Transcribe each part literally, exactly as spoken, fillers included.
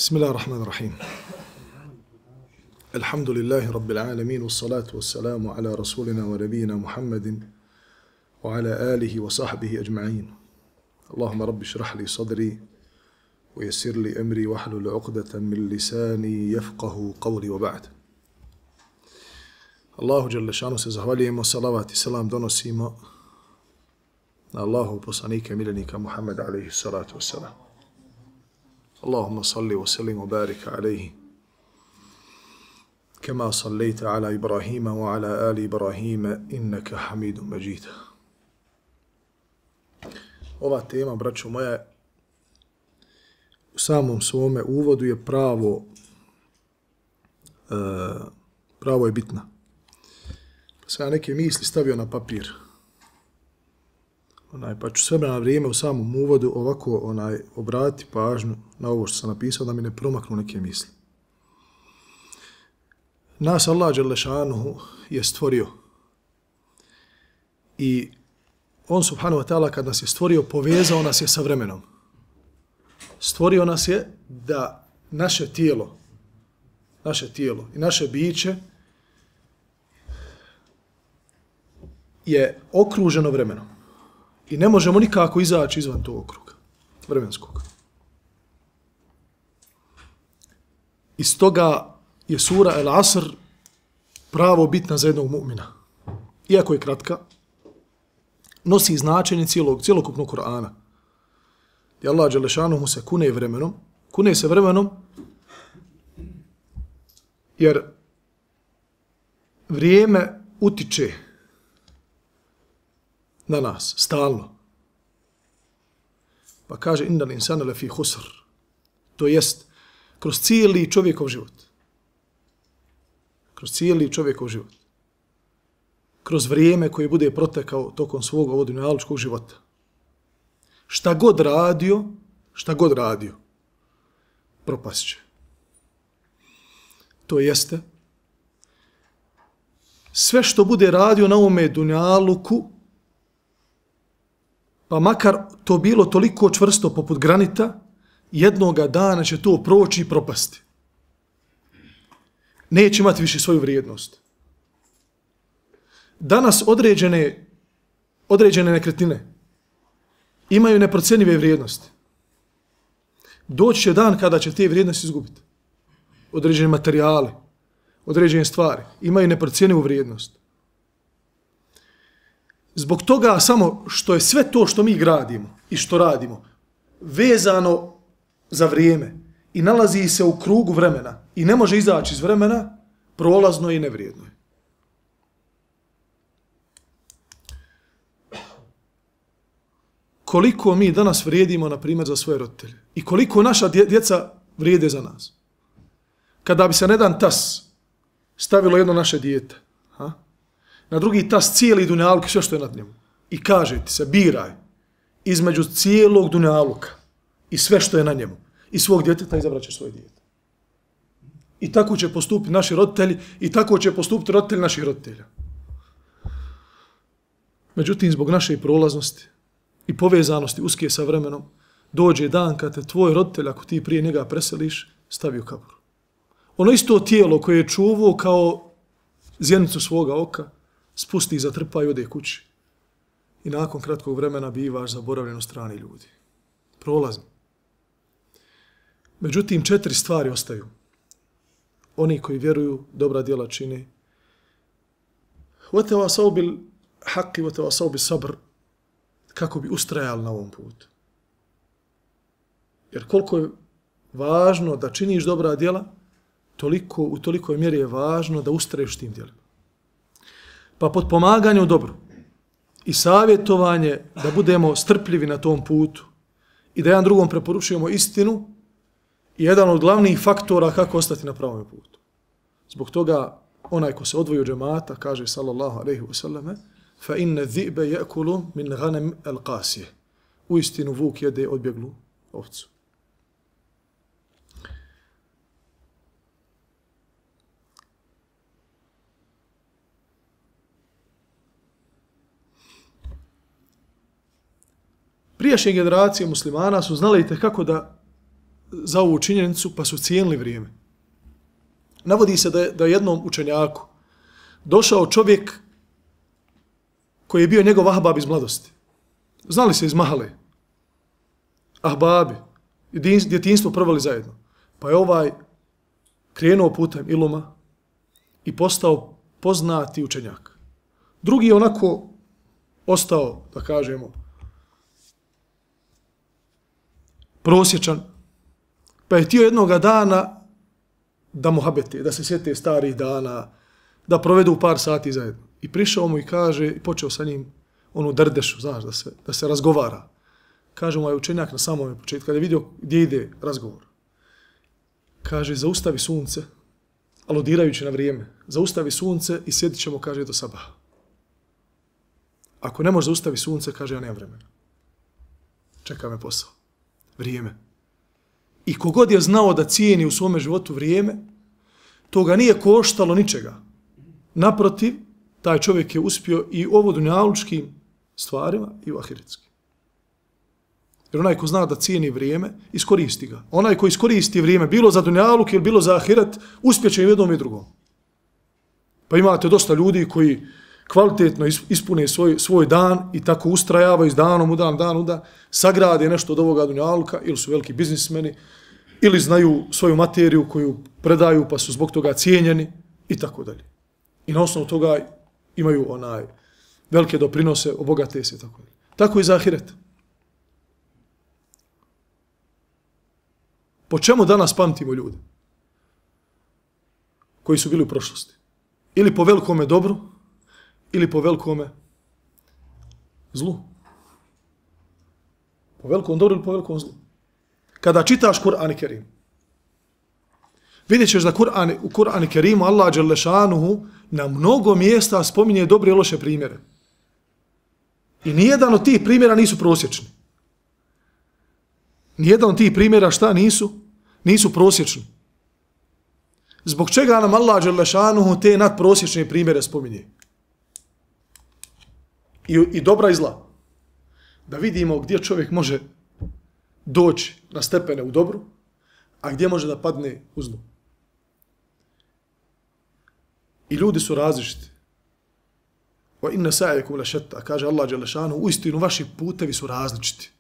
Bismillahirrahmanirrahim. Alhamdulillahi rabbil alamin, wassalatu wassalamu ala rasulina wa nabiyina Muhammadin wa ala alihi wa sahbihi ajma'in. Allahumma rabbi shrah li sadri wa yassir li amri wahlul 'uqdatan min lisani yafqahu qawli wa ba'd. Allahu dželle šanu se zahvaljujemo, salavat i selam donosimo na Allahu poslanika i miljenika Muhammed alejhi salatu wassalam. Allahumma salli wa sallim wa barik alejhi kama sallaita ala Ibrahima wa ala ali Ibrahima innaka hamidun majid. Ova tema, braćo moja, u samom svome uvodu je pravo uh, pravo je bitna. Pa sam ja neke misli stavio na papir. Onaj, pa ću sve na vrijeme u samom uvodu ovako onaj, obrati pažnju na ovo što sam napisao da mi ne promaknu neke misli. Nas Allah dželle šanuhu je stvorio i on subhanahu wa ta'ala kad nas je stvorio povezao nas je sa vremenom. Stvorio nas je da naše tijelo, naše tijelo i naše biće je okruženo vremenom. I ne možemo nikako izaći izvan tog okruga, vremenskog. Iz toga je sura El Asr pravo bitna za jednog mu'mina. Iako je kratka, nosi značenje cijelog, cijelokupnog Kur'ana. I Allah dželle šanuhu se kune vremenom, kune se vremenom, jer vrijeme utiče na nas, stalno. Pa kaže, innal insana lafi khusr. To jest, kroz cijeli čovjekov život. Kroz cijeli čovjekov život. Kroz vrijeme koje bude protekao tokom svog ovog dunjalučkog života. Šta god radio, šta god radio, propast će. To jeste, sve što bude radio na ovome dunjaluku, pa makar to bilo toliko čvrsto poput granita, jednoga dana će to proći i propasti. Neće imati više svoju vrijednost. Danas određene, određene nekretnine imaju neprocjenjive vrijednosti. Doći će dan kada će te vrijednosti izgubiti. Određene materijale, određene stvari imaju neprocjenjivu vrijednost. Zbog toga samo što je sve to što mi gradimo i što radimo vezano za vrijeme i nalazi se u krugu vremena i ne može izaći iz vremena, prolazno i nevrijedno je. Koliko mi danas vrijedimo, na primjer, za svoje roditelje i koliko naša djeca vrijede za nas. Kada bi se na jedan tas stavilo jedno naše dijete, ha? Na drugi tas cijeli dunjaluk i sve što je nad njemu. I kaže ti se, biraj između cijelog dunjaluka i sve što je na njemu. I svog djeteta izabrat ćeš svoje dijete. I tako će postupiti naši roditelji i tako će postupiti roditelji naših roditelja. Međutim, zbog naše prolaznosti i povezanosti uske sa vremenom, dođe dan kad te tvoj roditelj, ako ti prije njega preseliš, stavi u kabur. Ono isto tijelo koje je čuvao kao zjenicu svoga oka, spusti, zatrpa i ode kući. I nakon kratkog vremena bivaš zaboravljen u strani ljudi. Prolazno. Međutim, četiri stvari ostaju. Oni koji vjeruju, dobra djela čine. وَتَوَاسَوْ بِالْحَقِّ وَتَوَاسَوْ بِالصَّبْرِ, kako bi ustrajali na ovom putu. Jer koliko je važno da činiš dobra djela, toliko, u tolikoj mjeri je važno da ustraješ tim djelima. Pa potpomaganje u dobru i savjetovanje da budemo strpljivi na tom putu i da jedan drugom preporučujemo istinu je jedan od glavnih faktora kako ostati na pravom putu. Zbog toga onaj ko se odvoji od džemata kaže sallallahu alejhi ve selleme fa inna dhi'ba ya'kulu min ghanam al-qasiyah. Uistinu vuk jede odbjeglu ovcu. Prijašnje generacije muslimana su znali kako da za ovu činjenicu pa su cijenili vrijeme. Navodi se da je, da je jednom učenjaku došao čovjek koji je bio njegov ahbab iz mladosti. Znali se iz mahale. Ahbabi. Djetinjstvo proveli zajedno. Pa je ovaj krenuo putem iluma i postao poznati učenjak. Drugi je onako ostao, da kažemo, prosječan, pa je htio jednoga dana da muhabete, da se sjete starih dana, da provedu par sati zajedno. I prišao mu i kaže, i počeo sa njim onu drdešu, znaš, da se, da se razgovara. Kaže mu je učenjak na samom početku, kada je vidio gdje ide razgovor. Kaže, zaustavi sunce, aludirajući na vrijeme, zaustavi sunce i sjedit ćemo, kaže, do sabaha. Ako ne može zaustavi sunce, kaže, ja nemam vremena. Čeka me posao. Vrijeme. I kogod je znao da cijeni u svome životu vrijeme, to ga nije koštalo ničega. Naprotiv, taj čovjek je uspio i u ovo dunjalučkim stvarima i u ahiretskim. Jer onaj ko zna da cijeni vrijeme, iskoristi ga. Onaj ko iskoristi vrijeme, bilo za dunjaluk ili bilo za ahiret, uspjeće i jednom i drugom. Pa imate dosta ljudi koji kvalitetno ispune svoj, svoj dan i tako ustrajavaju iz danom u dan, dan u dan, sagrade nešto od ovoga dunjaluka, ili su veliki biznismeni, ili znaju svoju materiju koju predaju pa su zbog toga cijenjeni i tako dalje. I na osnovu toga imaju onaj velike doprinose, obogate se i tako dalje. Tako i za ahiret. Po čemu danas pamtimo ljude koji su bili u prošlosti? Ili po velikome dobru, ili po velikome zlu. Po velikom dobru ili po velikom zlu. Kada čitaš Kur'an i Kerim, vidjet ćeš da Kur'an, u Kur'an i Kerimu Allah Đelešanuhu na mnogo mjesta spominje dobre i loše primjere. I nijedan od tih primjera nisu prosječni. Nijedan od tih primjera šta nisu? Nisu prosječni. Zbog čega nam Allah Đelešanuhu te nadprosječne primjere spominje? I, I dobra i zla. Da vidimo gdje čovjek može doći na stepene u dobru, a gdje može da padne u zlu. I ljudi su različiti. Wa inna sa'yakum lashatta, kaže Allah dželle šanuhu, uistinu vaši putevi su različiti.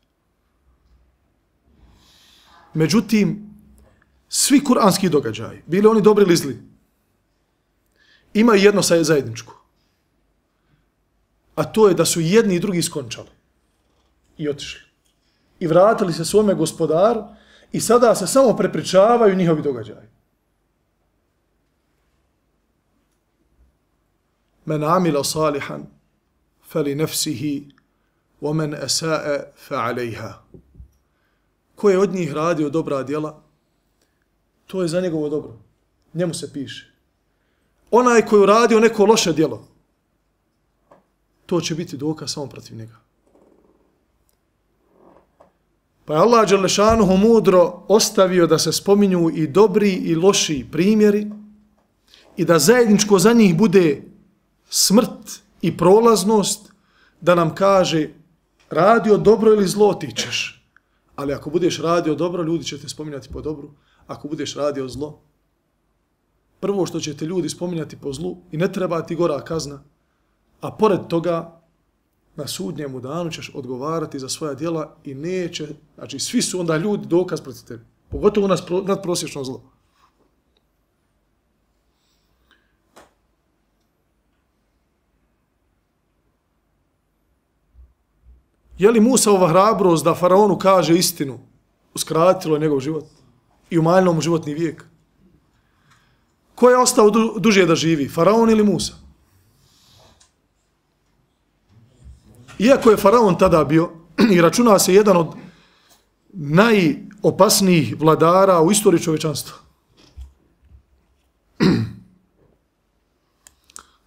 Međutim, svi kuranski događaji, bili oni dobri ili zli, imaju jedno zajedničko. A to je da su jedni i drugi skončali i otišli. I vratili se svome gospodaru i sada se samo prepričavaju njihovi događaji. Men amila salihan fali nefsihi wa men esae fa alejha. Ko je od njih radio dobra djela, to je za njegovo dobro. Njemu se piše. Onaj koji je radio neko loše djelo, to će biti dokaz samo protiv njega. Pa je Allah Đelešanuhu mudro ostavio da se spominju i dobri i loši primjeri i da zajedničko za njih bude smrt i prolaznost, da nam kaže radio dobro ili zlo ti ćeš. Ali ako budeš radio dobro, ljudi će te spominjati po dobru. Ako budeš radio zlo, prvo što će te ljudi spominjati po zlu i ne treba ti gora kazna, a pored toga na sudnjemu danu ćeš odgovarati za svoja djela i neće, znači svi su onda ljudi dokaz protiv tebe. Pogotovo nas nadprosječno zlo. Je li Musaova hrabrost da faraonu kaže istinu uskratilo njegov život i umanjilo mu životni vijek? Ko je ostao du, duže da živi, faraon ili Musa? Iako je faraon tada bio i računa se jedan od najopasnijih vladara u istoriji čovječanstva.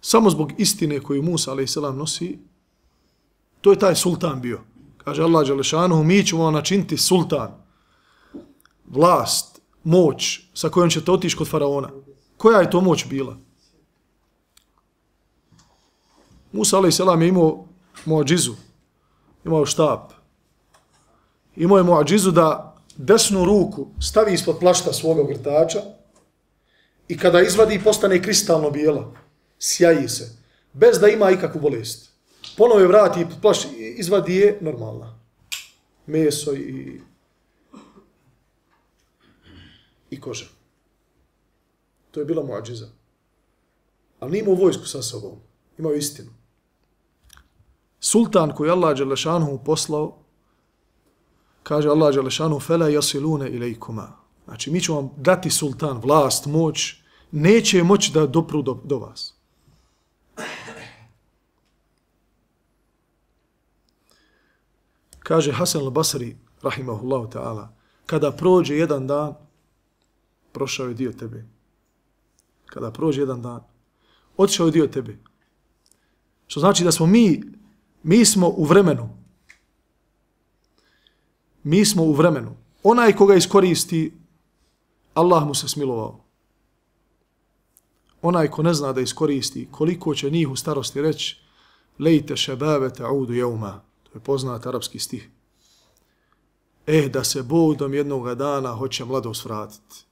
Samo zbog istine koju Musa alejhi selam nosi, to je taj sultan bio. Kaže Allah Đelešanuhu, mi ćemo vam načiniti sultan, vlast, moć sa kojom ćete otići kod faraona. Koja je to moć bila? Musa alejhi selam je imao muadžizu, imao štab. Imao je muadžizu da desnu ruku stavi ispod plašta svoga ogrtača i kada izvadi postane kristalno bijela, sjaji se, bez da ima ikakvu bolest. Ponovo je vrati plašt, izvadi je normalna. Meso i, i koža. To je bila muadžiza. Ali nije imao vojsku sa sobom. Imao istinu. Sultan koji Allah Đelešanuhu poslao, kaže Allah Đelešanuhu, fela jasilune ilejkuma. Znači, mi ćemo vam dati sultan, vlast, moć, neće moći da dopru do, do vas. Kaže Hasan al-Basri, rahimahullahu ta'ala, kada prođe jedan dan, prošao je dio tebe. Kada prođe jedan dan, otišao je dio tebe. Što znači da smo mi, mi smo u vremenu. Mi smo u vremenu. Onaj koga iskoristi, Allah mu se smilovao. Onaj ko ne zna da iskoristi, koliko će njih u starosti reći, lejte šebabe ta'udu jeuma. To je poznat arapski stih. Eh, da se Bog dom jednog dana hoće mladost vratiti.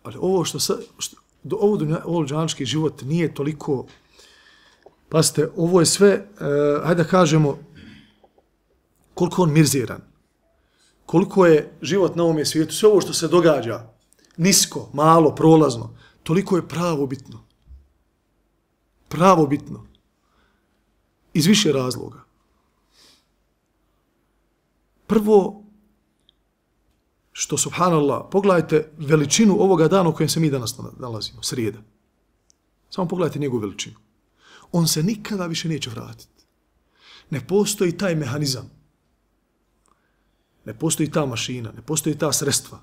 Ali ovo što sa, što, ovo, ovo džanski život nije toliko, pazite, ovo je sve, eh, hajde da kažemo, koliko on mirziran, koliko je život na ovom svijetu, sve ovo što se događa, nisko, malo, prolazno, toliko je pravo bitno. Pravo bitno. Iz više razloga. Prvo, što, subhanallah, pogledajte veličinu ovoga dana u kojem se mi danas nalazimo, srijeda. Samo pogledajte njegovu veličinu. On se nikada više neće vratiti. Ne postoji taj mehanizam. Ne postoji ta mašina, ne postoji ta sredstva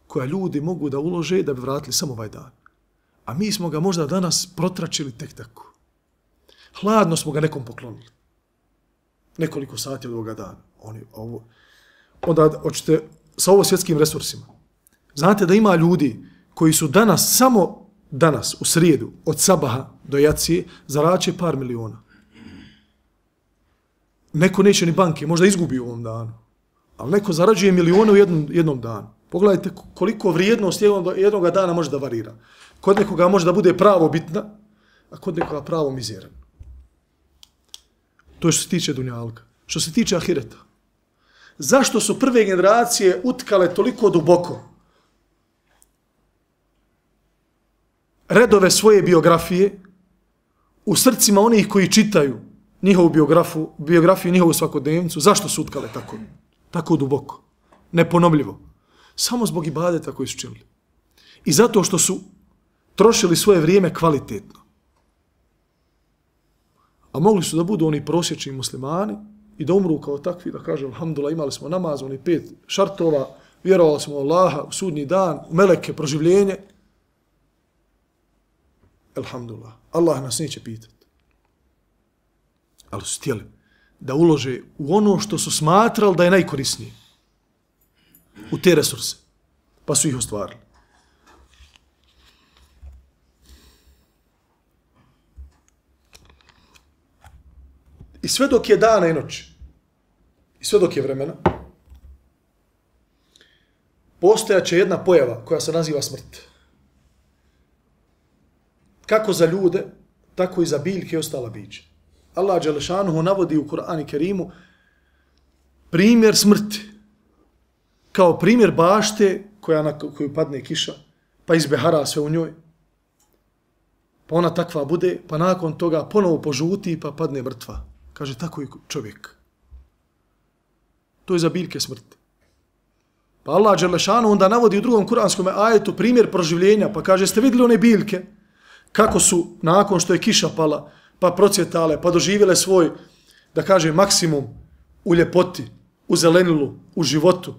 koja ljudi mogu da ulože da bi vratili samo ovaj dan. A mi smo ga možda danas protračili tek tako. Hladno smo ga nekom poklonili. Nekoliko sati od ovoga dana. Oni, ovo, onda hoćete sa ovo svjetskim resursima. Znate da ima ljudi koji su danas, samo danas, u srijedu, od sabaha do jacije, zaraće par miliona. Neko neće ni banke, možda izgubi u ovom danu. Ali neko zarađuje milijone u jednom, jednom danu. Pogledajte koliko vrijednost jednog, jednog dana može da varira. Kod nekoga može da bude pravo bitna, a kod nekoga pravo mizeran. To je što se tiče dunjalka. Što se tiče ahireta. Zašto su prve generacije utkale toliko duboko redove svoje biografije u srcima onih koji čitaju njihovu biografiju, biografiju njihovu svakodnevnicu? Zašto su utkale tako? Tako duboko. Neponovljivo. Samo zbog ibadeta koji su činili. I zato što su trošili svoje vrijeme kvalitetno. A mogli su da budu oni prosječni muslimani i da umru kao takvi, da kažem, alhamdulillah, imali smo namaz, oni pet šartova, vjerovali smo u Allaha, u sudnji dan, u meleke, proživljenje. Alhamdulillah, Allah nas neće pitati. Ali su htjeli da ulože u ono što su smatrali da je najkorisnije. U te resurse. Pa su ih ostvarili. I sve dok je dana i noć, i sve dok je vremena, postojaće jedna pojava koja se naziva smrt. Kako za ljude, tako i za biljke i ostala bića. Allah Đelešanuhu navodi u Kur'anu i Kerimu primjer smrti. Kao primjer bašte koja na koju padne kiša, pa izbehara sve u njoj. Pa ona takva bude, pa nakon toga ponovo požuti, pa padne mrtva. Kaže, tako i čovjek. To je za biljke smrti. Pa Allah Đelešanu onda navodi u drugom kuranskom ajetu primjer proživljenja, pa kaže, ste vidjeli one biljke, kako su nakon što je kiša pala, pa procvjetale, pa doživjele svoj, da kaže, maksimum u ljepoti, u zelenilu, u životu.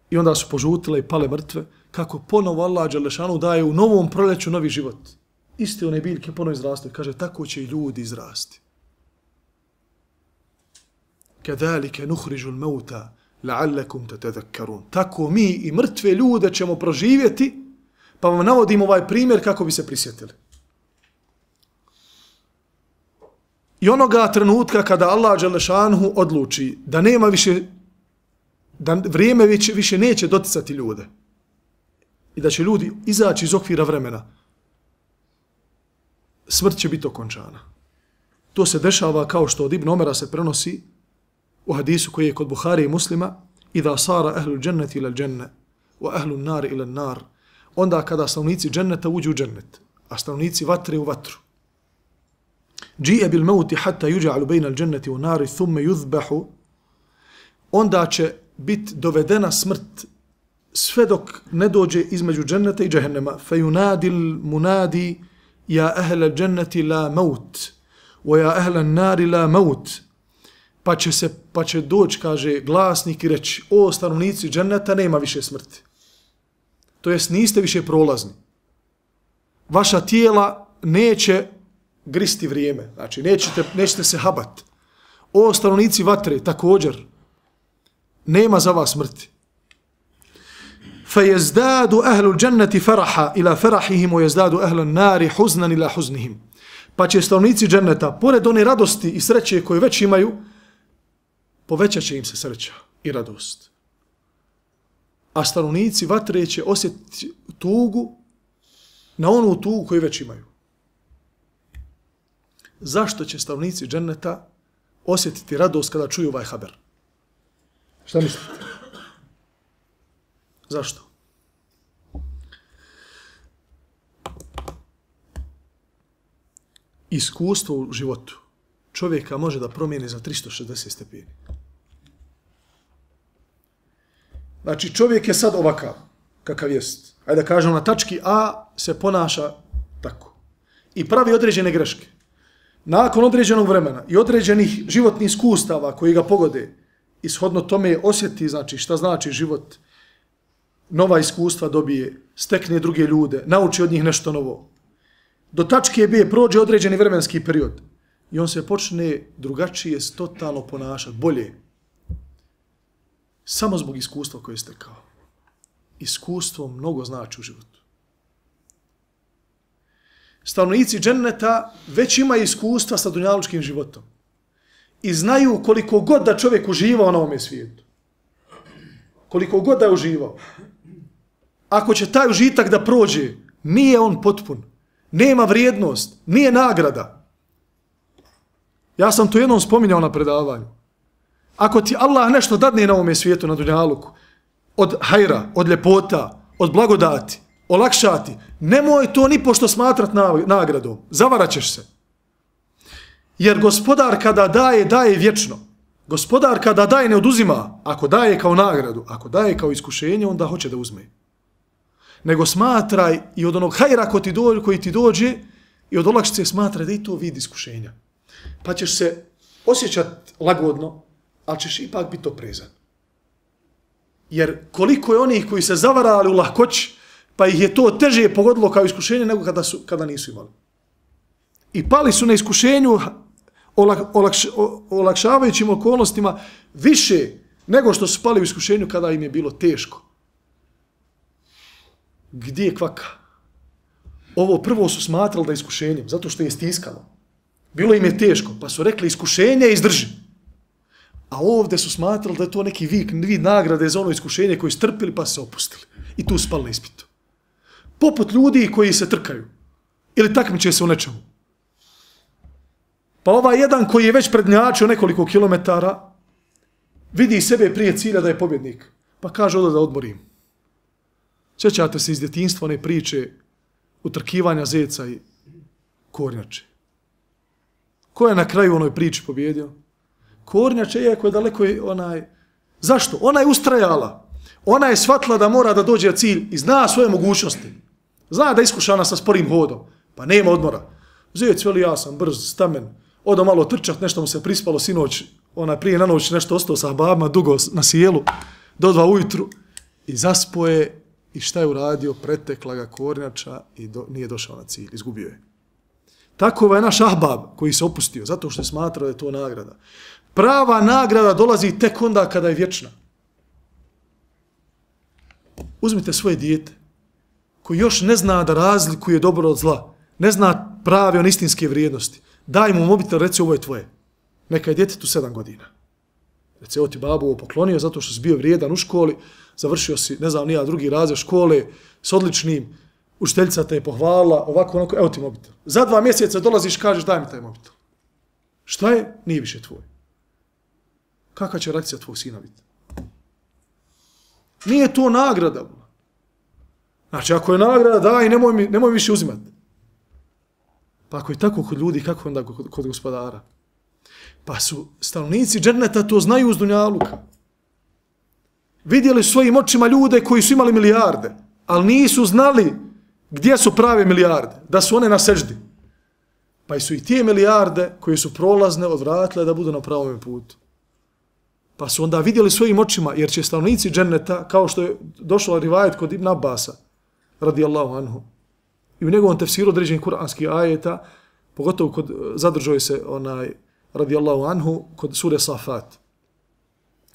I onda su požutile i pale mrtve, kako ponovo Allah Đelešanu daje u novom proljeću novi život. Iste one biljke ponovo izrastu. Kaže, tako će i ljudi izrasti. Kedalike nuhrižu l-mauta la'allakum tatadhakkarun. Tako mi i mrtve ljude ćemo proživjeti, pa vam navodimo ovaj primjer kako bi se prisjetili. I onoga trenutka kada Allah Đelešanuhu odluči da nema više da vrijeme više, više neće doticati ljude i da će ljudi izaći iz okvira vremena, smrt će biti okončana. To se dešava kao što od Ibn Omera se prenosi u hadisu koji je kod Buhari i Muslima: "Idha sara ahlul dženneti ila dženne, wa ahlun nar ila nar." Onda kada stanovnici dženneta uđu u džennet, a stanovnici vatre u vatru. "Dži'e bil mauti hatta yuj'alu bayna al-dženneti wa nari thumma yuzbahu." Onda će biti dovedena smrt sve dok ne dođe između dženneta i džehennema. "Fayunadil munadi ja ahlal dženneti la maut, wa ja ahlal nari la maut." Pa će, se, pa će doći, kaže, glasnik i reći: "O stanovnici dženneta, nema više smrti." To jest, niste više prolazni. Vaša tijela neće gristi vrijeme, znači nećete, nećete se habat. O stanovnici vatre, također, nema za vas smrti. فَيَزْدَادُ أَهْلُ الْجَنَّةِ فَرَحًا إِلَى فَرَحِهِمْ وَيَزْدَادُ أَهْلُ النَّارِ حُزْنًا إِلَى حُزْنِهِمْ. Pa će stanovnici dženneta, pored one radosti i sreće koje već imaju, povećat će im se sreća i radost. A stanovnici vatre će osjetiti tugu na onu tugu koju već imaju. Zašto će stanovnici dženneta osjetiti radost kada čuju ovaj haber? Šta mislite? Zašto? Iskustvo u životu čovjeka može da promijeni za tristo šezdeset stepeni. Znači, čovjek je sad ovakav, kakav jest. Ajde da kažem, na tački A se ponaša tako. I pravi određene greške. Nakon određenog vremena i određenih životnih iskustava koji ga pogode, ishodno tome osjeti, znači, šta znači život, nova iskustva dobije, stekne druge ljude, nauči od njih nešto novo. Do tačke B prođe određeni vremenski period i on se počne drugačije totalno ponašati, bolje. Samo zbog iskustva koje je stekao. Iskustvo mnogo znači u životu. Stanovnici dženneta već imaju iskustva sa dunjalučkim životom i znaju koliko god da čovjek uživao na ovome svijetu. Koliko god da je uživao. Ako će taj užitak da prođe, nije on potpun. Nema vrijednost, nije nagrada. Ja sam to jednom spominjao na predavanju. Ako ti Allah nešto dadne na ovome svijetu, na dunjaluku, od hajra, od ljepota, od blagodati, olakšati, nemoj to ni pošto smatrat nagradom. Zavarat ćeš se. Jer gospodar kada daje, daje vječno. Gospodar kada daje ne oduzima. Ako daje kao nagradu, ako daje kao iskušenje, onda hoće da uzme. Nego smatraj i od onog hajra koji ti dođe, koji ti dođe i od olakšice smatraj da i to vid iskušenja. Pa ćeš se osjećati lagodno, ali ćeš ipak biti oprezan. Jer koliko je onih koji se zavarali u lahkoći, pa ih je to teže pogodilo kao iskušenje nego kada, su, kada nisu imali. I pali su na iskušenju olakš, olakšavajućim okolnostima više nego što su pali u iskušenju kada im je bilo teško. Gdje je kvaka? Ovo prvo su smatrali da je iskušenjem, zato što je stiskalo. Bilo im je teško, pa su rekli iskušenje izdrži. A ovdje su smatrali da je to neki vid, vid nagrade za ono iskušenje koji su trpili pa se opustili. I tu spali na ispitu. Poput ljudi koji se trkaju. Ili takmiče se u nečemu. Pa ovaj jedan koji je već prednjačio nekoliko kilometara, vidi sebe prije cilja da je pobjednik. Pa kaže ovdje da odmorim. Sjećate se iz djetinjstva one priče utrkivanja zeca i kornjače. Ko je na kraju onoj priči pobjedio? Kornjače, iako je daleko onaj... Zašto? Ona je ustrajala. Ona je shvatila da mora da dođe na cilj i zna svoje mogućnosti. Zna da je iskušana sa sporim hodom. Pa nema odmora. Zec, veli, ja sam brz, stamen. Odo malo trčat, nešto mu se prispalo sinoć. Ona prije na noć nešto ostao sa babama dugo na sjelu. Do dva ujutru. I zaspoje. I šta je uradio? Pretekla ga kornjača i do, nije došao na cilj. Izgubio je. Tako je naš ahbab koji se opustio. Zato što je smatrao da je to nagrada. Prava nagrada dolazi tek onda kada je vječna. Uzmite svoje dijete koji još ne zna da razlikuje dobro od zla. Ne zna prave on istinske vrijednosti. Daj mu mobitel, reci ovo je tvoje. Neka je djetetu sedam godina. Reci, evo ti babo ovo poklonio zato što si bio vrijedan u školi, završio si, ne znam, nija drugi razred škole s odličnim, učiteljica te je pohvalila, ovako, onako, evo ti mobitel. Za dva mjeseca dolaziš, kažeš, daj mi taj mobitel. Šta je? Nije više tvoj. Kakva će reakcija tvojeg sina biti? Nije to nagrada. Znači, ako je nagrada, daj, nemoj mi, nemoj mi više uzimati. Pa ako je tako kod ljudi, kako onda kod, kod gospodara? Pa su stanovnici dženneta to znaju uz dunjaluka. Vidjeli svojim očima ljude koji su imali milijarde, ali nisu znali gdje su prave milijarde, da su one na seždi. Pa su i tije milijarde koje su prolazne odvratile da budu na pravom putu. Pa su onda vidjeli svojim očima, jer će stanovnici dženneta, kao što je došlo rivajet kod Ibn Abbasa, radijallahu anhu, i u njegovom tefsiru određenih kuranskih ajeta, pogotovo kod, zadržuje se onaj, radijallahu anhu, kod sure Safat,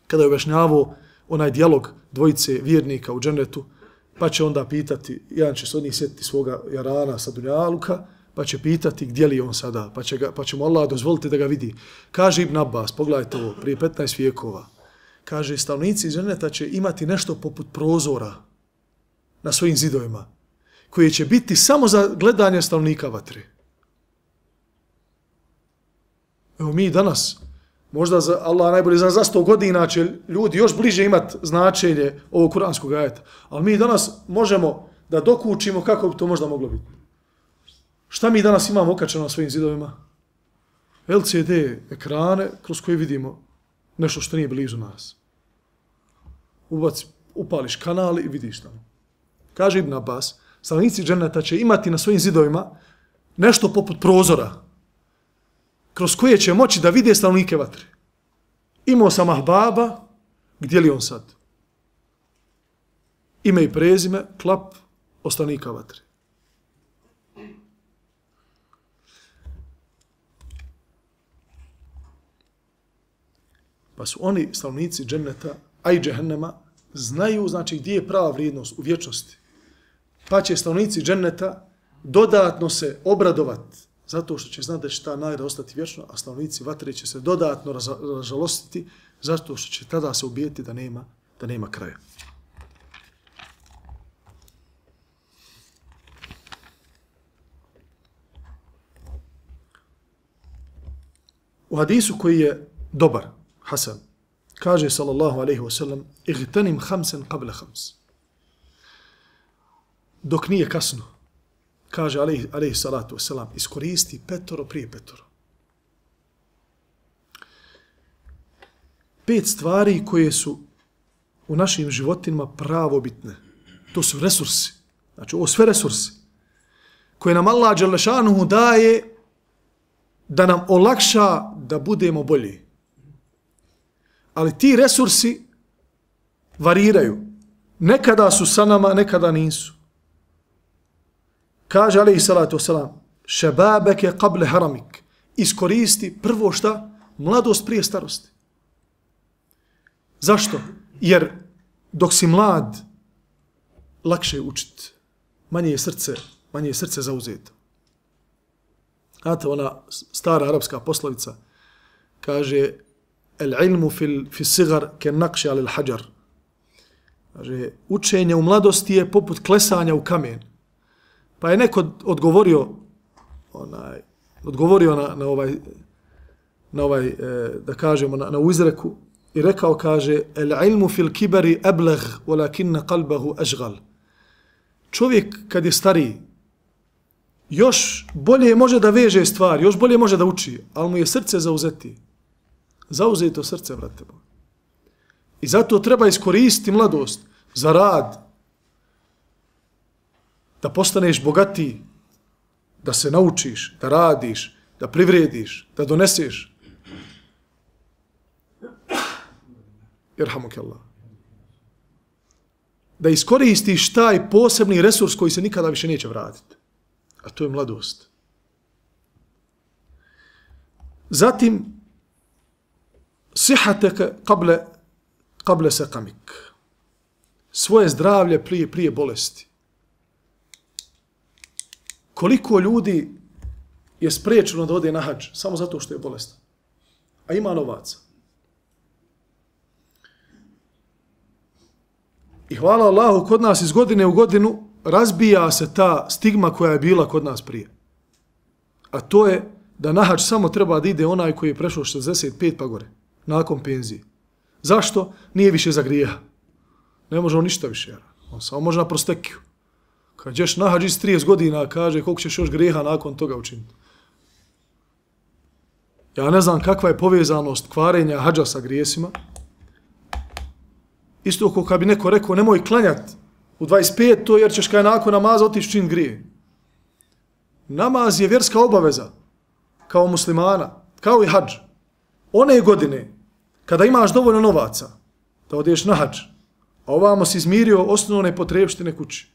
kada je objašnjavao onaj dijalog dvojice vjernika u džennetu, pa će onda pitati, jedan će se od njih sjetiti svoga jarana sa dunjaluka, pa će pitati gdje li on sada, pa će, ga, pa će mu Allah dozvoliti da ga vidi. Kaže Ibn Abbas, pogledajte ovo, prije petnaest vijekova, kaže, stanovnici dženeta će imati nešto poput prozora na svojim zidovima, koje će biti samo za gledanje stanovnika vatre. Evo mi danas, možda za Allah najbolje za, za sto godina će ljudi još bliže imati značenje ovog kuranskog ajeta, ali mi danas možemo da dokučimo kako bi to možda moglo biti. Šta mi danas imamo okačeno na svojim zidovima? L C D ekrane kroz koje vidimo nešto što nije blizu nas. Ubaci, upališ kanal i vidiš tamo. Kaže Ibn Abbas, stanovnici dženneta će imati na svojim zidovima nešto poput prozora kroz koje će moći da vide stanovnike vatre. Imao sam ahbaba, gdje li on sad? Ime i prezime, klap, stanovnika vatre. Pa su oni, stanovnici dženneta, a i džehennema, znaju, znači, gdje je prava vrijednost u vječnosti. Pa će stanovnici dženneta dodatno se obradovati zato što će znati da će ta nagrada ostati vječno, a stanovnici vatre će se dodatno ražalostiti zato što će tada se ubijeti da nema, da nema kraja. U hadisu koji je dobar, Hasan, kaže sallallahu alaihi wasallam, igtanim hamsen qabla hams. Dok nije kasno, kaže alaihi, alaihi salatu wasallam, iskoristi petoro prije petoro. Pet stvari koje su u našim životima pravo bitne. To su resursi. Znači, ovo sve resursi koje nam Allah dželešanuhu daje da nam olakša da budemo bolji. Ali ti resursi variraju. Nekada su sa nama, nekada nisu. Kaže alejhi salatu wasalam, šebabeke qable haramik. Iskoristi prvo šta? Mladost prije starosti. Zašto? Jer dok si mlad, lakše je učiti. Manje je srce, manje je srce zauzeto. Znate, ona stara arapska poslovica kaže el ilmu fil, fil sigar ke nakši alil hađar. Kaže, učenje u mladosti je poput klesanja u kamen. Pa je neko odgovorio, onaj, odgovorio na, na ovaj, na ovaj e, da kažemo, na, na uzreku i rekao, kaže, el ilmu fil kibari ebleg, walakinna qalbahu ažgal. Čovjek kad je stariji, još bolje može da veže stvari, još bolje može da uči, ali mu je srce zauzeti. Zauzeto srce, brate. I zato treba iskoristiti mladost za rad, da postaneš bogatiji, da se naučiš, da radiš, da privrediš, da doneseš. Irhamuk Allah. Da iskoristiš taj posebni resurs koji se nikada više neće vratiti. A to je mladost. Zatim, sihateke kable, kable sekamik. Svoje zdravlje prije, prije bolesti. Koliko ljudi je spriječeno da ode na hadž samo zato što je bolestan. A ima novaca. I hvala Allahu, kod nas iz godine u godinu razbija se ta stigma koja je bila kod nas prije. A to je da na hadž samo treba da ide onaj koji je prešao šezdeset pet pa gore, nakon penzije. Zašto? Nije više za grijeha. Ne može on ništa više. On samo može na prostekiju. Kad ćeš na hadž iz trideset godina, kaže koliko ćeš još grijeha nakon toga učiniti. Ja ne znam kakva je povezanost kvarenja hadža sa grijesima. Isto ako kad bi neko rekao nemoj klanjati u dvadeset pet to jer ćeš kaj nakon namaza otići čin grije. Namaz je vjerska obaveza kao muslimana, kao i hadž. One godine kada imaš dovoljno novaca da odeš na hadž, a ovamo si izmirio osnovne potrebštine kući.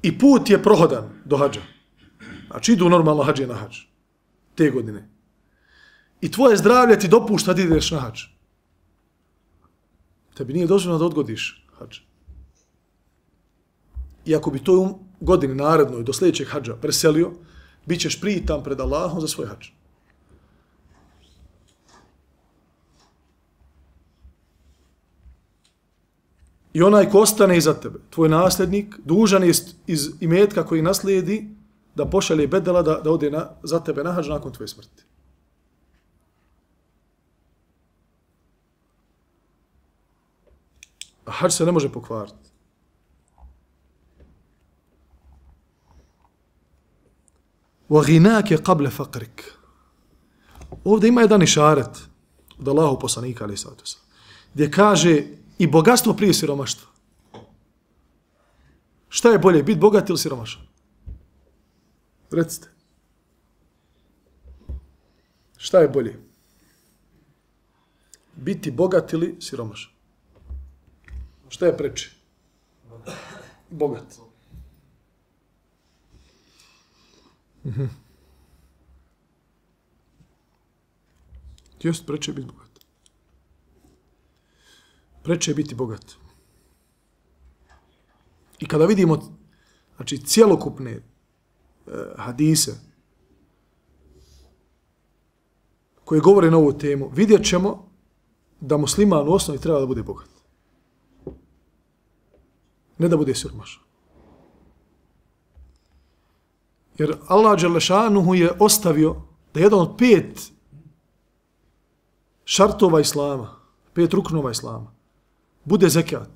I put je prohodan do hadža. Znači idu normalno hadžije na hadž te godine. I tvoje zdravlje ti dopušta da ideš na hadž. Tebi nije dozvoljeno da odgodiš hadž. I ako bi to u godini narednoj do sljedećeg hadža preselio, bit ćeš pritam pred Allahom za svoj hadž. I onaj ko ostane iza tebe, tvoj nasljednik, dužan je iz imetka koji naslijedi da pošalje bedela da, da ode na, za tebe na hadž nakon tvoje smrti. A hadž se ne može pokvariti. وَغِنَاكَ قَبْلَ فَقْرِكَ. Ovdje ima jedan išaret od Allahu poslanika, ali sada gdje kaže i bogatstvo prije siromaštva. Šta je bolje, biti bogat ili siromašan? Recite. Šta je bolje? Biti bogat ili siromašan? Šta je preče? Bogat. Mhm. Just preče biti bogat. Preče je biti bogat. I kada vidimo znači, cjelokupne e, hadise koje govore na ovu temu, vidjet ćemo da musliman u osnovi treba da bude bogat. Ne da bude siromašan. Jer Allah Đelešanuhu je ostavio da jedan od pet šartova Islama, pet ruknova Islama, bude zekat.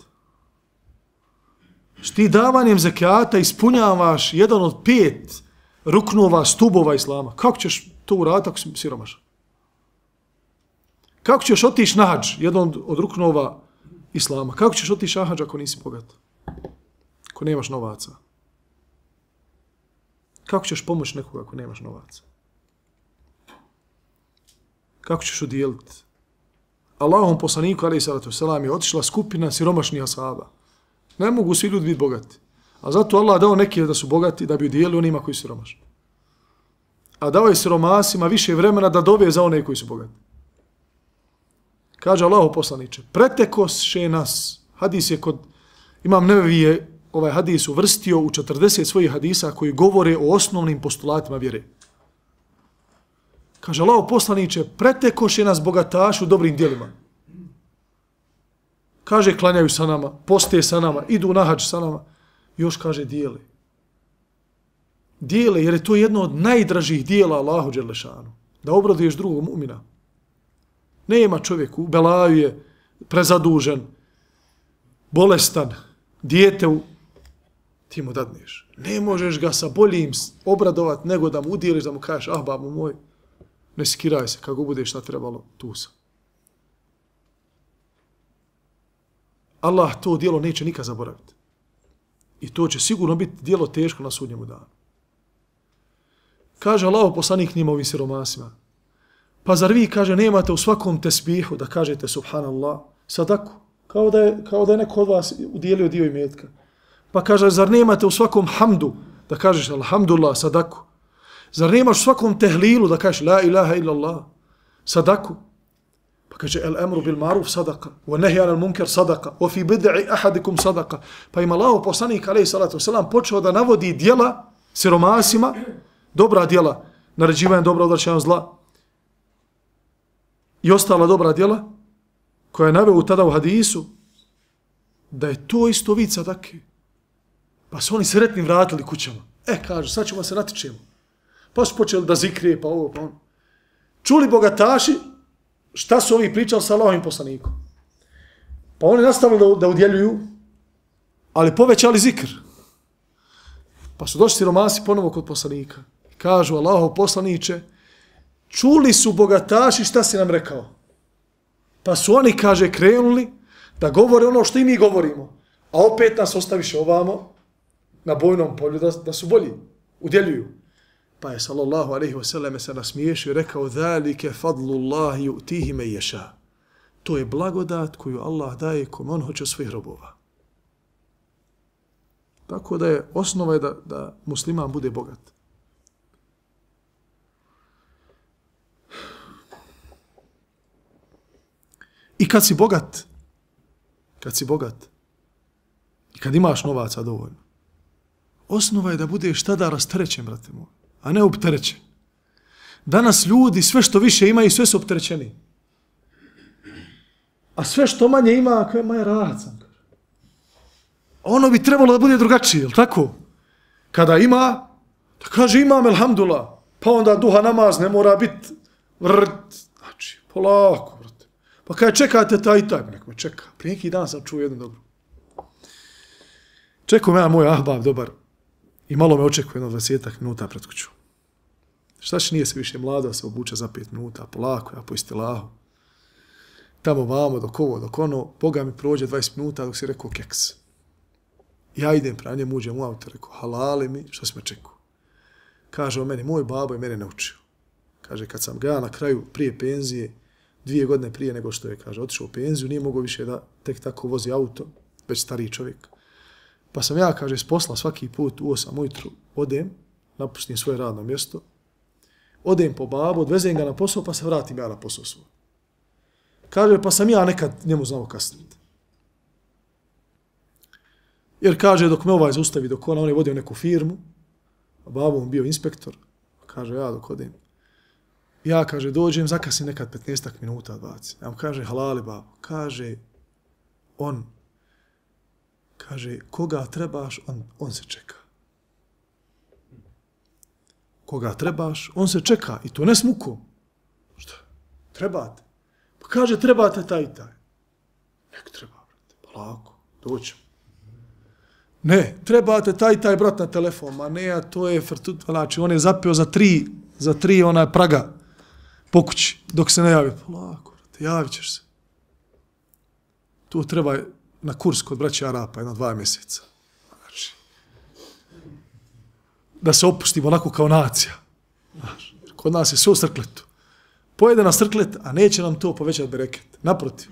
Što ti davanjem zekata ispunjavaš jedan od pet ruknova, stubova Islama. Kako ćeš to uraditi ako si siromašan? Kako ćeš otići na hadž, jedan od ruknova Islama? Kako ćeš otići na hadž ako nisi bogat? Ako nemaš novaca? Kako ćeš pomoći nekoga ako nemaš novaca? Kako ćeš udijeliti? Allahom poslaniku, alejhi salatu vesselam, je otišla skupina siromašnih ashaba. Ne mogu svi ljudi biti bogati. A zato Allah dao neke da su bogati da bi udijelili onima koji su siromašni. A dao je siromasima više vremena da dove za one koji su bogati. Kaže Allahov poslaniče, pretekoše nas, hadis je kod, Imam Nevevi je ovaj hadis uvrstio u četrdeset svojih hadisa koji govore o osnovnim postulatima vjere. Kaže Allahov poslaniče, pretekoše nas bogataši u dobrim djelima. Kaže, klanjaju sa nama, poste sa nama, idu na hadž sa nama. Još kaže, dijele. Dijele, jer je to jedno od najdražih dijela Allahu Đelešanu. Da obraduješ drugog mu'mina. Nema čovjeku, u belaju je prezadužen, bolestan, dijete u... Ti mu dadneš. Ne možeš ga sa boljim obradovat nego da mu udijeliš, da mu kažeš, ah, babo moj, ne skiraj se, kako bude šta trebalo, tu sam. Allah to dijelo neće nikad zaboraviti. I to će sigurno biti dijelo teško na sudnjemu danu. Kaže Allah poslanik njima ovim siromasima, pa zar vi, kaže, nemate u svakom tesbihu da kažete subhanallah, sadaku, kao da je, kao da je neko od vas udijelio dio imetka. Pa kaže, zar nemate u svakom hamdu da kažeš alhamdulillah, sadaku. Zar nemaš u svakom tehlilu da kažeš la ilaha illallah, sadaku. Pa kaže, el emru bil maruf sadaka, wa nehi anil munker sadaka, wa fi bid'i ahadikum sadaka. Pa ima Allahov poslanik, alejhi salatu vesselam, počeo da navodi djela siromasima, dobra djela, naređivanje dobra, odvraćanje zla, i ostala dobra djela, koja je naveo tada u hadisu, da je to isto vid sadake. Pa su oni sretni vratili kućama. E, kaže, sad ćemo se natičemo. Pa su počeli da zikrije, pa ovo, pa ono. Čuli bogataši šta su ovi pričali sa Allahovim poslanikom. Pa oni nastavili da, da udjeljuju, ali povećali zikr. Pa su došli siromasi ponovo kod poslanika. Kažu, Allahov poslaniče, čuli su bogataši šta si nam rekao. Pa su oni, kaže, krenuli da govore ono što i mi govorimo. A opet nas ostaviše ovamo na bojnom polju da, da su bolji, udjeljuju. Pa je sallallahu alejhi ve selleme se nasmiješio i rekao zalike fadlullahi yu'tihi men yasha. To je blagodat koju Allah daje kome on hoće od svojih robova. Tako da je osnova je da, da musliman bude bogat. I kad si bogat, kad si bogat, i kad imaš novaca dovoljno, osnova je da budeš tada rasterećen, brate moj, a ne opterećen. Danas ljudi sve što više imaju, sve su opterećeni. A sve što manje ima, kao je manje rad sam. Ono bi trebalo da bude drugačije, je li tako? Kada ima, da kaže imam, elhamdulillah, pa onda duha namaz ne mora biti vrt, znači, polako, brate. Pa kada čekate taj i taj, nek me čeka. Prije neki dan sam čuo jednu dobru. Čekao me ja moj ahbab dobar i malo me očekuje jedno dvadesetak minuta pred kuću. Šta će, nije se više mlado, se obuče za pet minuta, polako, ja po istilahu. Tamo vamo, dok ovo, dok ono, Boga mi prođe dvadeset minuta dok si rekao keks. Ja idem pra njemu, uđem u auto, rekao, halali mi, što si me čekao? Kaže o meni, moj babo je mene naučio. Kaže, kad sam ga ja na kraju prije penzije, dvije godine prije nego što je, kaže, otišao u penziju, nije mogao više da tek tako vozi auto, već stariji čovjek. Pa sam ja, kaže, s posla svaki put u osam ujutru odem, napustim svoje radno mjesto, odem po babu, odvezem ga na posao, pa se vratim ja na posao svoj. Kaže, pa sam ja nekad njemu znao kasniti. Jer kaže, dok me ovaj zaustavi, dok ona, on je vodio neku firmu, a babo mu bio inspektor, kaže, ja dok odem, ja, kaže, dođem, zakasim nekad petnaest minuta, dvadeset. Ja mu kaže, halali babo, kaže, on, kaže, koga trebaš, on, on se čeka. Koga trebaš, on se čeka, i to ne s mukom. Šta? Trebate. Pa kaže, trebate taj i taj. Nek treba, brate, pa lako, doćem. Ne, trebate taj taj brat na telefon, ma ne, a to je frtut, znači, on je zapio za tri, za tri ona praga po kući, dok se ne javi. Pa lako, brate, javit ćeš se. Tu treba na kurs kod braća Arapa, jedno dva mjeseca. Znači, da se opustimo onako kao nacija. Znači, kod nas je sve u srkletu. Pojede na srklet, a neće nam to povećati bereket. Naprotiv.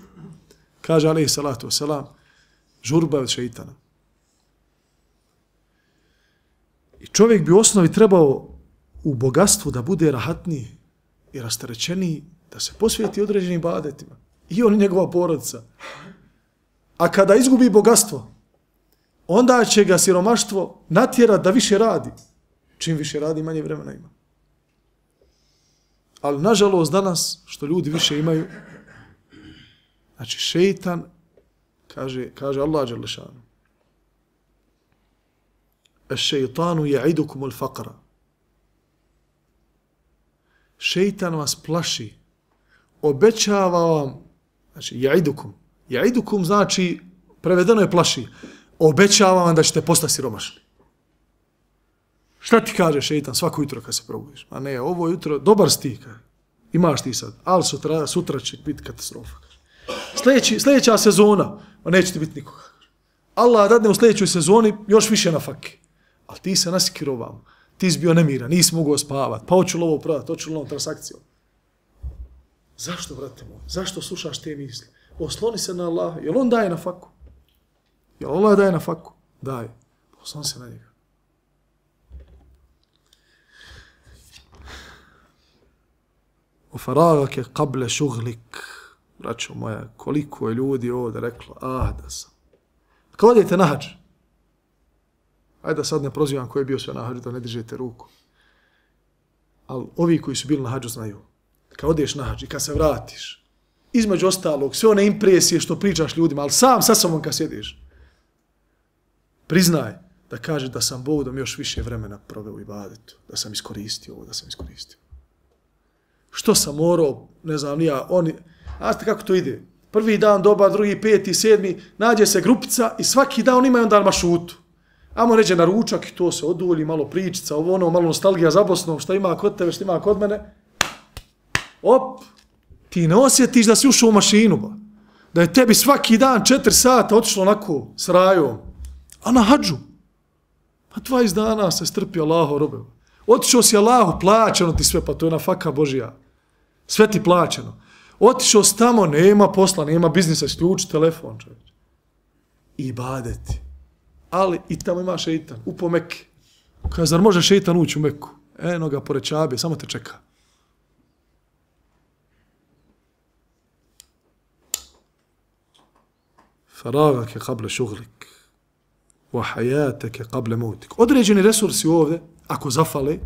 Kaže alejhi salatu wasalam, žurba od šeitana. I čovjek bi u osnovi trebao u bogatstvu da bude rahatniji i rasterećeniji, da se posvijeti određenim ibadetima. I on i njegova porodica. A kada izgubi bogatstvo, onda će ga siromaštvo natjerati da više radi. Čim više radi, manje vremena ima. Ali nažalost danas, što ljudi više imaju, znači šeitan, kaže, kaže Allah dželešanu, eš-šeitanu ja'idukum al-faqra. Šeitan vas plaši, obećava vam, znači ja'idukum, ja'idukum znači, prevedeno je plaši, obećava vam da ćete postati siromašni. Šta ti kaže šeitan svako jutro kad se probudiš? A ne, ovo jutro, dobar si kaže. Imaš ti sad, ali sutra, sutra će biti katastrofa. Sljedeći, sljedeća sezona, a neće ti biti nikoga. Allah dadne u sljedećoj sezoni još više na faki. Ali ti se nasikirao, ti si bio nemiran, nisi mogao spavati, pa hoću li ovo prodati, hoću li ovo transakciju. Zašto, brate moj? Zašto slušaš te misli? Osloni se na Allaha. Jel on daje na faku? Jel Allah daje na faku? Daje. Osloni se na njega. U faragake qable šuglik. Braćo moja, koliko je ljudi ovdje reklo, ah, da sam. Kad odete na hađ, ajde da sad ne prozivam ko je bio sve na hađu, da ne dižete ruku. Ali ovi koji su bili na hađu znaju. Kad odeš na hađ i kad se vratiš, između ostalog, sve one impresije što pričaš ljudima, ali sam sa sobom kad sjediš, Priznaj da kaže da sam Bogom još više vremena proveo u ibadetu, da sam iskoristio ovo, da sam iskoristio. Što sam morao, ne znam, nija, oni, a ste kako to ide? Prvi dan doba, drugi, peti, sedmi, nađe se grupica i svaki dan imaju onda mašutu. Amo ređe na ručak i to se odulji, malo pričica, ovo ono, malo nostalgija za Bosnom, šta ima kod tebe, šta ima kod mene. Op, ti ne osjetiš da si ušao u mašinu, ba. Da je tebi svaki dan četiri sata otišlo onako s rajom, a na hađu. Pa dvadeset dana se strpi Allaho robe. Otišao si Allahu, plaćeno ti sve, pa to je na faka Božija. Sve ti plaćeno. Otišao si tamo, nema posla, nema biznisa, isključi telefon, čovječ. I ibadeti. Ali i tamo ima šeitan, upo Mekke. Kaže, zar može šeitan ući u Meku? Eno ga pored Čabe, samo te čeka. Faragake kable šuglik. Wa hayatake kable mautik. Određeni resursi ovdje, ako zafale,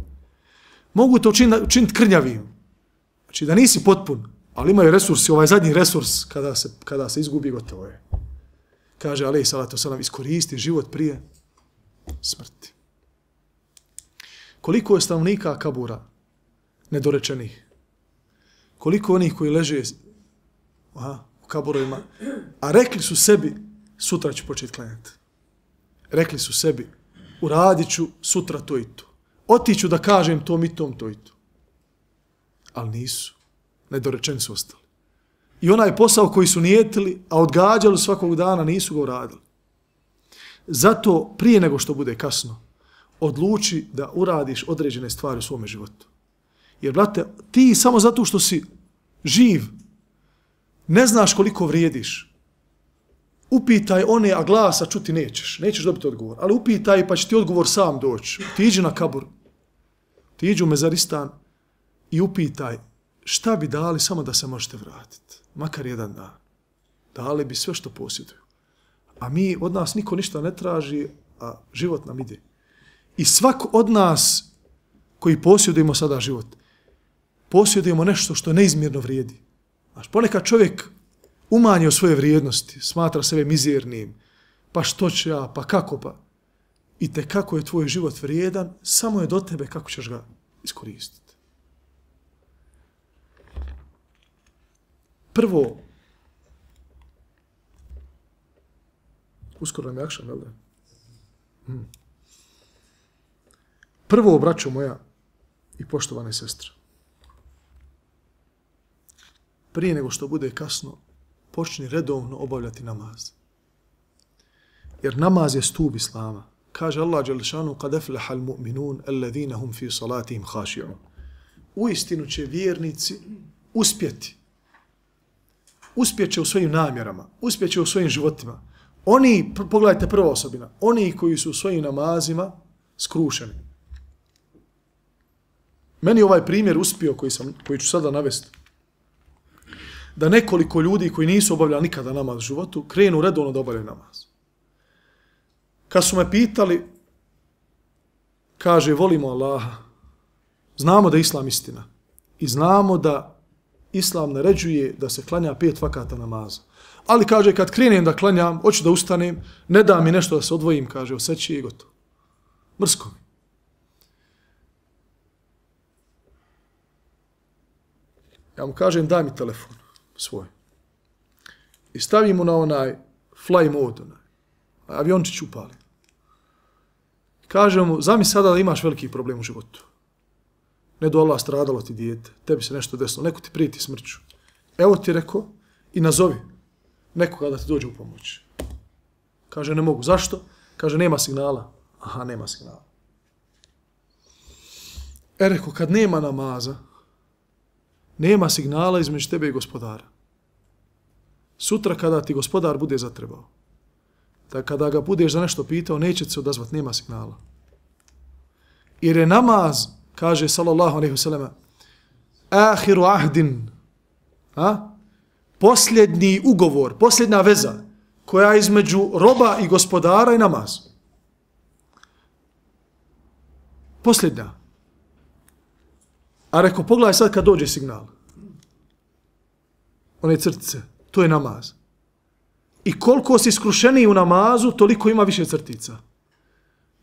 mogu to učiniti učin krnjavim. Znači da nisi potpun, ali imaju resursi, ovaj zadnji resurs, kada se, kada se izgubi, gotovo je. Kaže, alejhi salatu selam, iskoristi život prije smrti. Koliko je stanovnika kabura nedorečenih? Koliko onih koji leže aha, u kaburovima, a rekli su sebi, sutra ću početi klanjati. Rekli su sebi, uradit ću sutra to i to. Otiću da kažem tom i tom to i to. Ali nisu. Nedorečeni su ostali. I onaj posao koji su nijetili, a odgađali svakog dana, nisu ga uradili. Zato, prije nego što bude kasno, odluči da uradiš određene stvari u svome životu. Jer, brate, ti samo zato što si živ, ne znaš koliko vrijediš. Upitaj one, a glasa čuti nećeš. Nećeš dobiti odgovor. Ali upitaj, pa će ti odgovor sam doći. Ti iđi na kabur, ti iđi u Mezaristan i upitaj šta bi dali samo da se možete vratiti. Makar jedan dan. Dali bi sve što posjeduju. A mi, od nas niko ništa ne traži, a život nam ide. I svak od nas koji posjedujemo sada život, posjedujemo nešto što neizmjerno vrijedi. Znaš, ponekad čovjek umanjio svoje vrijednosti, smatra sebe mizernim, pa što će ja, pa kako pa. I te kako je tvoj život vrijedan, samo je do tebe kako ćeš ga iskoristiti. Prvo, uskoro nam je akšan, jel da? Hmm. Prvo, braćo moja i poštovane sestre, prije nego što bude kasno, počni redovno obavljati namaz. Jer namaz je stup Islama. Kaže Allah dželešanu, kad aflaha al-mu'minun alladhina hum fi salatihim khashi'un. Uistinu će vjernici uspjeti. Uspjeće u svojim namjerama, uspjeće u svojim životima. Oni, pogledajte prva osobina, oni koji su u svojim namazima skrušeni. Meni ovaj primjer uspio koji, sam, koji ću sada navesti. Da nekoliko ljudi koji nisu obavljali nikada namaz u životu, krenu redovno da obavljaju namaz. Kad su me pitali, kaže, volimo Allaha, znamo da je Islam istina i znamo da Islam naređuje da se klanja pet vakata namaza. Ali, kaže, kad krenem da klanjam, hoću da ustanem, ne da mi nešto da se odvojim, kaže, osjeći i gotovo. Mrsko mi. Ja mu kažem, daj mi telefon svoj. I stavim mu na onaj fly mode, onaj. Aviončić upali. Kažem mu, zamisli sada da imaš veliki problem u životu. Ne do Allah, stradalo ti dijete, tebi se nešto desilo, neko ti prijeti smrću. Evo ti rekao i nazovi nekoga da ti dođe u pomoć. Kaže, ne mogu. Zašto? Kaže, nema signala. Aha, nema signala. E, rekao, kad nema namaza, nema signala između tebe i gospodara. Sutra kada ti gospodar bude zatrebao, da kada ga budeš za nešto pitao, neće se odazvat, nema signala. Jer je namaz, kaže sallallahu alejhi ve sellem, ahiru ahdin, a? Posljednji ugovor, posljednja veza koja je između roba i gospodara i namaz. Posljednja. A rekao, pogledaj sad kad dođe signal. One crtice, to je namaz. I koliko si skrušeniji u namazu, toliko ima više crtica.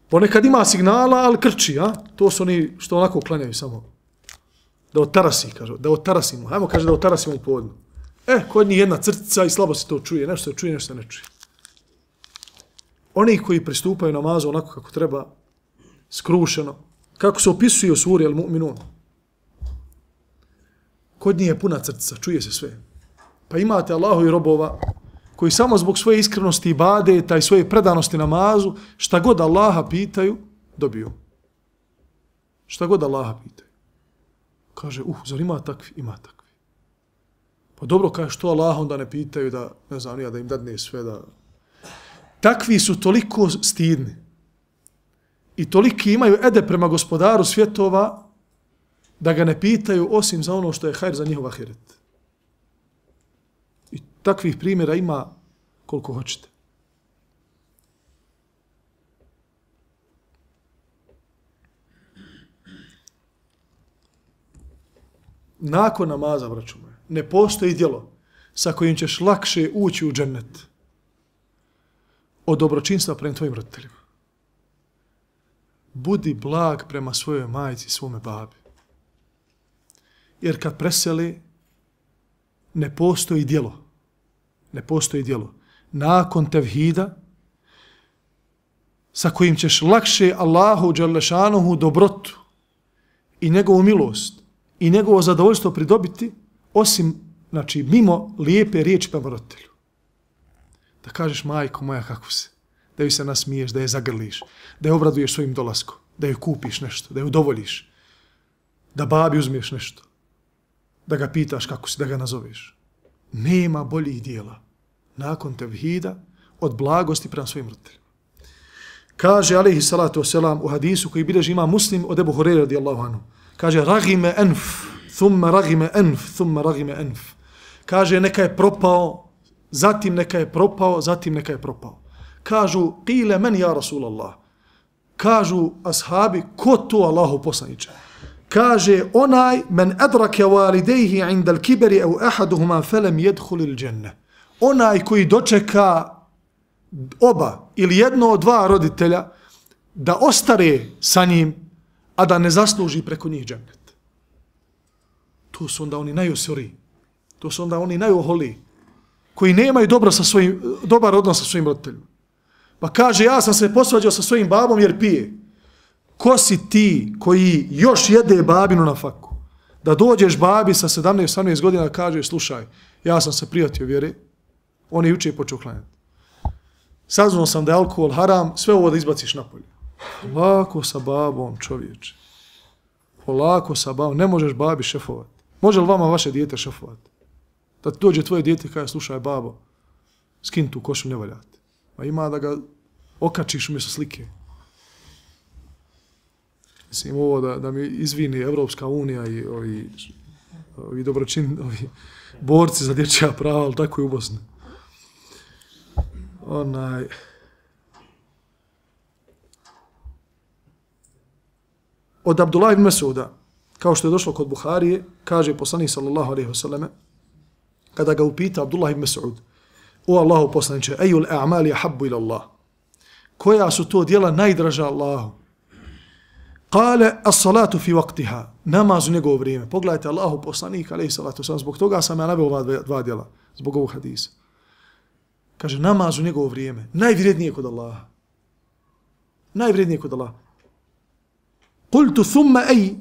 Ponekad ima signala, ali krči, a? To su oni što onako klanjaju samo. Da otarasi, kaže, da otarasimo. Hajmo, kaže, da otarasimo u podnu. E, kod njih jedna crtica i slabo se to čuje. Nešto se čuje, nešto se ne čuje. Oni koji pristupaju namazu onako kako treba, skrušeno, kako se opisuje u suri Al-Mu'minun. Kod njih je puna crtica, čuje se sve. Pa imate Allahu i robova koji samo zbog svoje iskrenosti i ibadeta i svoje predanosti namazu, šta god Allaha pitaju, dobiju. Šta god Allaha pitaju. Kaže, uh, zar ima takvi? Ima takvi. Pa dobro, kaže, što Allaha onda ne pitaju da, ne znam, ja da im dadne sve da... Takvi su toliko stidni i toliki imaju ede prema gospodaru svjetova da ga ne pitaju osim za ono što je hajr za njihov ahiret. I takvih primjera ima koliko hoćete. Nakon namaza, braćo moje, ne postoji djelo sa kojim ćeš lakše ući u džennet od dobročinstva prema tvojim roditeljima. Budi blag prema svojoj majci, svome babi. Jer kad preseli, ne postoji djelo. Ne postoji djelo. Nakon tevhida, sa kojim ćeš lakše Allahu dželešanuhu dobrotu i njegovu milost i njegovo zadovoljstvo pridobiti, osim, znači, mimo lijepe riječi prema roditelju. Da kažeš, majko moja, kako se, da ju se nasmiješ, da je zagrliš, da je obraduješ svojim dolaskom, da ju kupiš nešto, da ju udovoljiš, da babi uzmiješ nešto, da ga pitaš kako si, da ga nazoveš. Nema boljih dijela nakon tevhida od blagosti prema svojim roditeljima. Kaže, alejhi salatu wasalam, u hadisu koji bilježi ima Muslim od Ebu Hureyre radijallahu anhu, kaže, ragime enf, thumma ragime enf, thumma ragime enf. Kaže, neka je propao, zatim neka je propao, zatim neka je propao. Kažu, qile men ja Rasulallah. Kažu ashabi, ko to Allahu poslaniče? Kaže, onaj men adrake walidejhi indal kiberi au ahaduhuma felem jedhulil dženne. Onaj koji dočeka oba ili jedno od dva roditelja da ostare sa njim, a da ne zasluži preko njih džennet. To su onda oni najosori. To su onda oni najoholiji koji nemaju dobro sa svojim, dobar odnos sa svojim roditeljima. Pa kaže, ja sam se posvađao sa svojim babom jer pije. Ko si ti koji još jede babinu na faku? Da dođeš babi sa sedamnaest osamnaest godina, kažeš, slušaj, ja sam se prijatio vjere, on je juče počeo klanjati. Saznao sam da je alkohol haram, sve ovo da izbaciš napolje. Polako sa babom, čovječe. Polako sa babom, ne možeš babi šefovati. Može li vama vaše dijete šefovati? Da dođe tvoje dijete i kaže, slušaj babo, skin tu košu, ne valjate. Ma ima da ga okačiš umjesto slike. Mislim, ovo da, da mi izvini Evropska unija i ovi, ovi dobročin, ovi borci za dječja prava, ali tako je u Bosni. Onaj... Od Abdullah ibn Mesuda, kao što je došlo kod Buharije, kaže poslanik sallallahu alejhi ve selleme, kada ga upita Abdullah ibn Mesud, o Allahu poslaniče, ejul a'mali ahabbu ila Allah. Koja su to djela najdraža Allahu? Kale, as-salatu fi waqtiha, namaz u njegovo vrijeme. Pogledajte, Allahu poslanik, alejhi salatu wasalam, zbog toga sam ja naveo ova dva, dva djela, zbog ovog hadisa. Kaže, namaz u njegovo vrijeme, najvrijednije kod Allaha. Najvrijednije kod Allaha. Kultu thumma ej,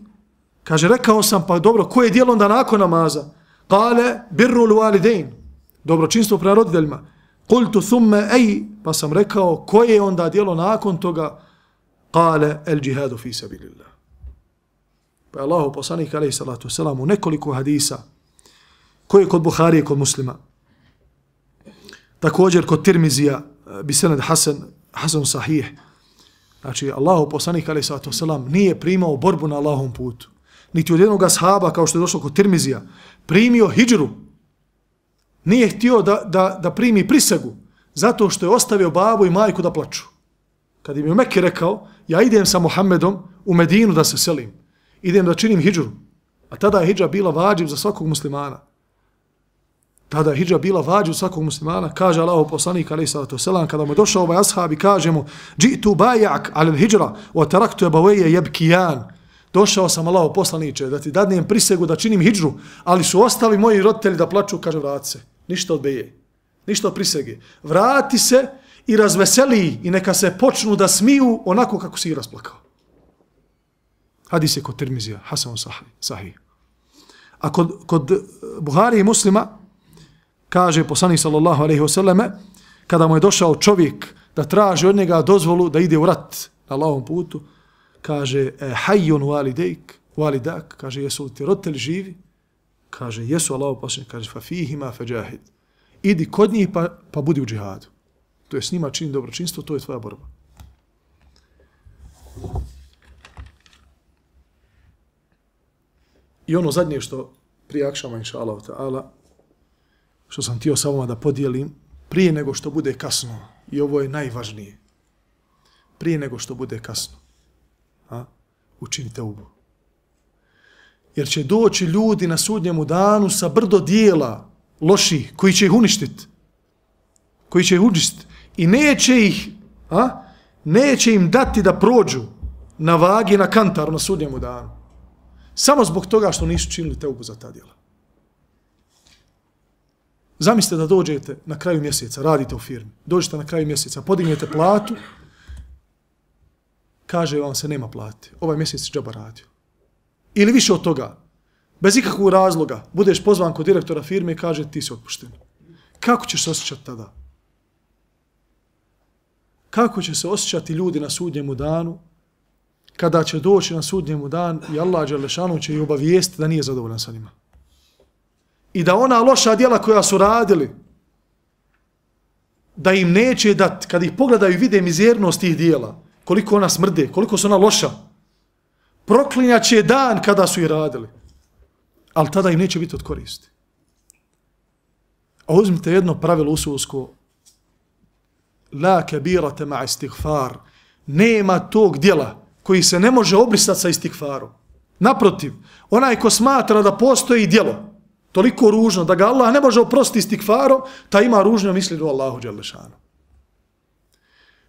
kaže, rekao sam, pa dobro, koje je djelo onda nakon namaza? Kale, birru l-walidain, dobročinstvo prema roditeljima. Kultu thumma ej, pa sam rekao, koje je onda djelo nakon toga? Kale, el džihadu fi sabilillah. Pa je Allahu poslanik, alejhi salatu wasalam, u nekoliko hadisa, koje je kod Buharije, kod Muslima, također kod Tirmizija, bisened Hasan, Hasan sahih. Znači, Allahu poslanik, alejhi salatu wasalam, nije primao borbu na Allahovom putu. Niti od jednog ashaba, kao što je došlo kod Tirmizija, primio hidžru. Nije htio da, da, da primi prisegu, zato što je ostavio babu i majku da plaču. Kad im je u Mekke rekao, ja idem sa Muhammedom u Medinu da se selim, idem da činim hidžru, a tada je hidžra bila vađiv za svakog muslimana. Tada je hidža bila vađu svakog muslimana, kaže Allahov poslanik alejhi salatu vesselam, kada mu je došao ovaj ashab i kaže mu džitu bajak alel hidžra wa taraktu abawaye yabkiyan. Došao sam Allahov poslaniče da ti dadnem prisegu da činim hidžru, ali su ostali moji roditelji da plaču, kaže vrati se. Ništa od beje, ništa od prisege. Vrati se i razveseli i neka se počnu da smiju onako kako si ih rasplakao. Hadis je kod Tirmizija, Hasan sahih. A kod, kod Buhari i Muslima kaže poslanik sallallahu alejhi ve selleme, kada mu je došao čovjek da traži od njega dozvolu da ide u rat na Allahovom putu, kaže hayyun walidayk walidak, kaže jesu li ti roditelji živi? Kaže jesu, Allahov poslanik kaže fa fihima fajahid. Idi kod njih pa, pa budi u džihadu. To je s njima čini dobročinstvo, to je tvoja borba. I ono zadnje što prije akšama, inša Allah ta'ala, što sam htio sa vama da podijelim, prije nego što bude kasno, i ovo je najvažnije, prije nego što bude kasno, a, učinite ubu. Jer će doći ljudi na sudnjemu danu sa brdo dijela loših, koji će ih uništiti, koji će ih uništiti, i neće ih, a, neće im dati da prođu na vagi, na kantaru na sudnjemu danu. Samo zbog toga što nisu činili teubu za ta djela. Zamislite da dođete na kraju mjeseca, radite u firmi, dođete na kraju mjeseca, podignete platu, kaže vam se nema plate, ovaj mjesec džaba radio. Ili više od toga, bez ikakvog razloga, budeš pozvan kod direktora firme i kaže ti si otpušten. Kako ćeš se osjećati tada? Kako će se osjećati ljudi na sudnjemu danu, kada će doći na sudnjemu dan i Allah dželešanu će ih obavijestiti da nije zadovoljan sa njima. I da ona loša djela koja su radili, da im neće dati, kad ih pogledaju i vide mizernost tih djela, koliko ona smrde, koliko su ona loša, proklinjat će dan kada su ih radili. Ali tada im neće biti od koristi. A uzmite jedno pravilo usulsko, la kabirate ma istighfar, nema tog djela koji se ne može obrisati sa istighfarom. Naprotiv, onaj ko smatra da postoji djelo toliko ružno da ga Allah ne može oprostiti istighfarom, ta ima ružno misli do Allahu dželešanu.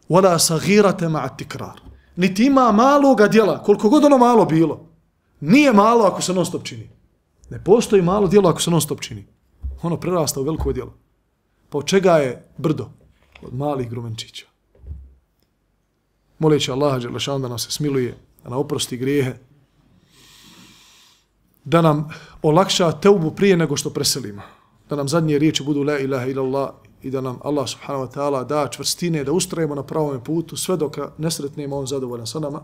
Wala saghirate ma tikrar. Niti ima maloga djela, koliko god ono malo bilo, nije malo ako se non stop čini. Ne postoji malo djelo ako se non stop čini. Ono prerasta u veliko djelo. Pa od čega je brdo? Od malih grumenčića. Moleći Allaha dželešanu da nam se smiluje, da nam oprosti grijehe, da nam olakša teubu prije nego što preselimo, da nam zadnje riječi budu la ilaha illallah i da nam Allah subhanahu wa ta'ala da čvrstine, da ustrajemo na pravom putu sve dok ne sretnemo on zadovoljan sa nama.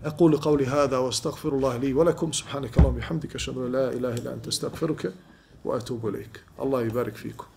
أقول قولي هذا واستغفر الله لي ولكم سبحانك اللهم وبحمدك أشهد أن لا إله إلا أنت أستغفرك وأتوب إليك. الله يبارك فيكم.